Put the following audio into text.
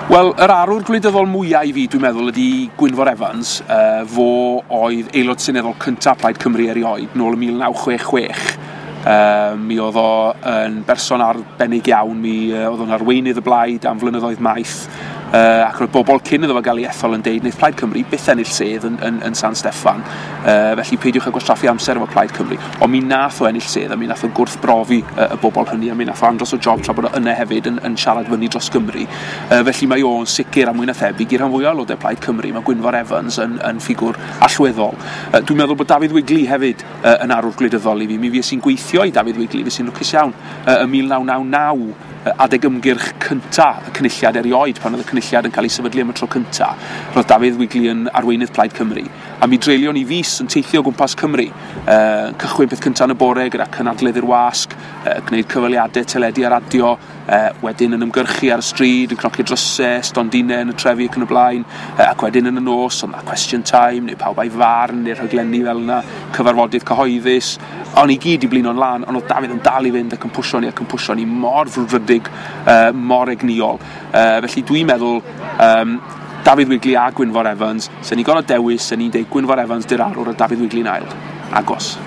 Wel, yr arwr gwleidyddol mwyaf i fi, dwi'n meddwl, ydy Gwynfor Evans. Fo oedd aelod seneddol cyntaf Plaid Cymru erioed, nôl ym 1966. Mi oedd o yn berson arbennig iawn, mi oedd o'n arweinydd y blaid am flynyddoedd maith, ac roedd bobl cyn iddo fo gael ei ethol yn deud wneith Plaid Cymru byth ennill sedd yn San Steffan, felly peidiwch â gwastraffu amser efo Plaid Cymru. Ond mi nath o ennill sedd, a mi nath o gwrthbrofi y bobl hynny, a mi nath o andros o job tra bod o yna hefyd yn siarad fyny dros Gymru. Felly mae o'n sicr, a mwy na thebyg i'r rhan fwyaf o aelodau Plaid Cymru, mae Gwynfor Evans yn ffigwr allweddol. Dwi'n meddwl bod Dafydd Wigley hefyd yn arwr gwleidyddol i fi. Mi fues i'n gweithio i Dafydd Wigley, fues i'n lwcus iawn, ym 1999, adeg ymgyrch cynta y Cynulliad erioed, pan oedd y Cynulliad yn cael ei sefydlu am y tro cynta, roedd Dafydd Wigley yn arweinydd Plaid Cymru. A mi dreulion ni fis yn teithio o gwmpas Cymru, cychwyn peth cynta yn y bore gyda cynadledd i'r wasg, gwneud cyfweliadau teledu a radio, wedyn yn ymgyrchu ar y stryd, yn cnocio drysau, stondinau yn y trefi ac yn y blaen, ac wedyn yn y nos, oedd 'na question time, neu pawb a'i farn, neu'r rhaglenni fel yna, cyfarfodydd cyhoeddus. O'n i gyd i blino'n lan, ond oedd Dafydd yn dal i fynd ac yn pwsio ni ac yn pwsio ni mor frwdfrydig, mor egnïol. Felly dwi'n meddwl Dafydd Wigley a Gwynfor Evans, sen ni'n gorfod dewis, sen ni'n deud Gwynfor Evans di'r arwr a Dafydd Wigley'n ail. Agos.